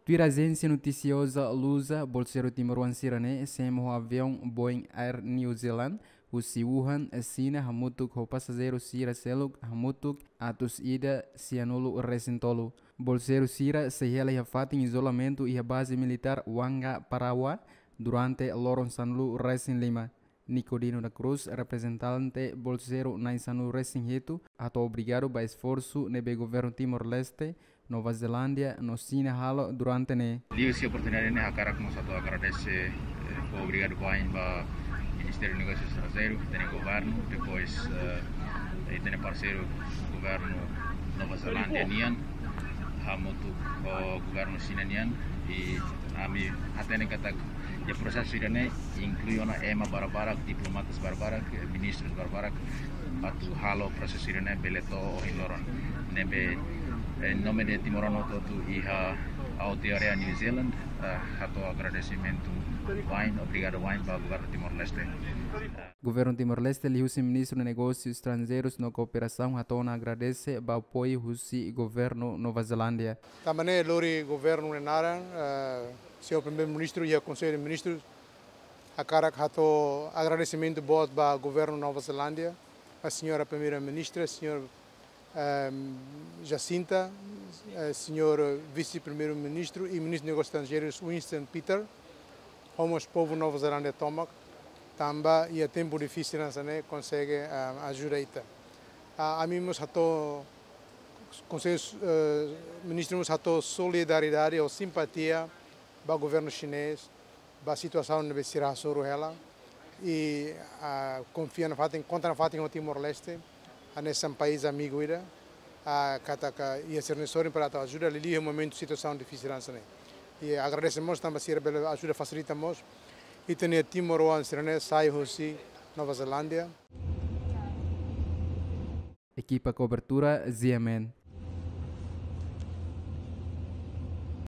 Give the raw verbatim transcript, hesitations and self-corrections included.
Tuir ajénsia notisioza Lusa, bolseiru timoroan sira-ne'e semo ho aviaun Boeing Air New Zealand husi Wuhan, Xina, hamutuk ho pasajeiru sira seluk hamutuk atus ida sianulu resin tolu. Bolseiru sira sei hela iha fatin izolamentu iha baze militár Wanga Parawa durante loron sanulu resin lima. Nicodino da Cruz, reprezentante bolseiru na'in sanulu resin hitu, hato'o obrigadu ba esforsu ne'ebé governu Timor-Leste, Nova Zelándia no Xina halo durante ne'e. Liuhusi oportunidade ne'e hakarak mós atu agradese, eh, fó obrigadu baibain ba Ministériu Negósius Estranjeirus, ita-nia governu, depois, eh, ita-nia parseiru governu Nova Zelándia nian, hamutuk ho governu Xina nian, i ami hatene katak iha prosesu ida-ne'e inklui ona ema barbarak, diplomatas barbarak, eh, ministrus barbarak, atu halo prosesu ida-ne'e bele to'o ohin loron. Ne'ebé, eh, em nome de timoroan hotu-hotu iha Aotearoa New Zealand, eh, hato'o agradesimentu baibain, obrigadu baibain ba governu Timor-Leste. Governu Timor-Leste liuhusi Ministru Negósius Estranjeirus no Kooperasaun hato'o ona agradese ba apoiu husi governu Nova Zelándia. Tanba ne'e lori governu nia naran, eh, señór Primeiru-Ministru iha Konsellu de Ministrus, hakarak hato'o agradesimentu boot ba governu Nova Zelándia, ba señora Primeira-Ministra, señór, ehm, Jacinta, eh, señór Vise-Primeiru-Ministru i Ministru Negósius Estranjeirus Winston Peters, ho mós povu Nova Zelándia tomak, tanba iha tempu difisil hanesan ne'e konsege, ehm, ajuda ita. Ah, ami mós hato'o, Konsellu, eh, Ministru mós hato'o solidariedade ou simpatia ba governu xinés, ba situasaun ne'ebé sira hasoru hela, i, ah, konfia nafatin, konta nafatin ho Timor-Leste, hanesan país amigu ida, ah, katak iha sira-nia sorin para atu ajuda, liuliu iha momentu situasaun difisil hanesan ne'e. I agradese mós tanba sira bele ajuda fasilita mós ita-nia timoroan sira-ne'e sai husi Nova Zelándia. Ekipa kobertura, G M N.